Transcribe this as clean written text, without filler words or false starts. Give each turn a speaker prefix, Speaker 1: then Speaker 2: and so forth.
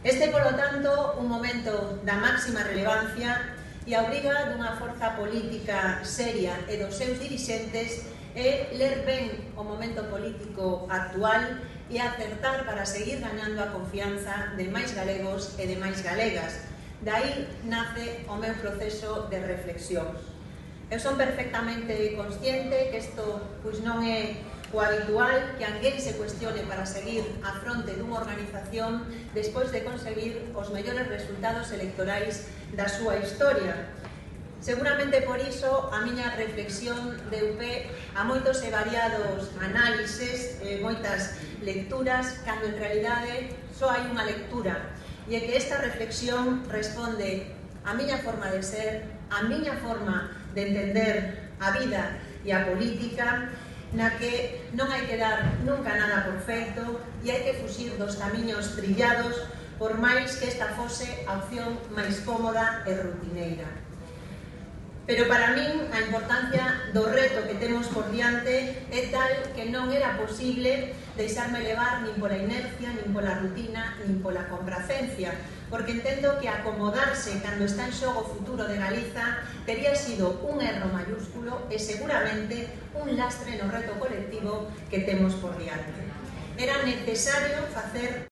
Speaker 1: Este, polo tanto, un momento da máxima relevancia e a obriga dunha forza política seria e dos seus dirixentes é ler ben o momento político actual e acertar para seguir gañando a confianza de máis galegos e de máis galegas. De aí nace o meu proceso de reflexión. Eu son perfectamente consciente que isto non é o habitual, que alguén se cuestione para seguir á fronte dunha organización despois de conseguir os mellores resultados electorais da súa historia. Seguramente por iso a miña reflexión deu pé a moitos e variados análises, moitas lecturas, cando en realidade só hai unha lectura, e é que esta reflexión responde a miña forma de ser, a miña forma de entender a vida e a política, na que non hai que dar nunca nada por feito e hai que fuxir dos camiños trillados por máis que esta fose a opción máis cómoda e rutineira. Pero para min a importancia do reto que temos por diante é tal que non era posible deixarme levar nin pola inercia, nin pola rutina, nin pola compracencia, porque entendo que acomodarse cando está en xogo o futuro de Galiza tería sido un erro mayúsculo e seguramente un lastre no reto colectivo que temos por diante. Era necesario facer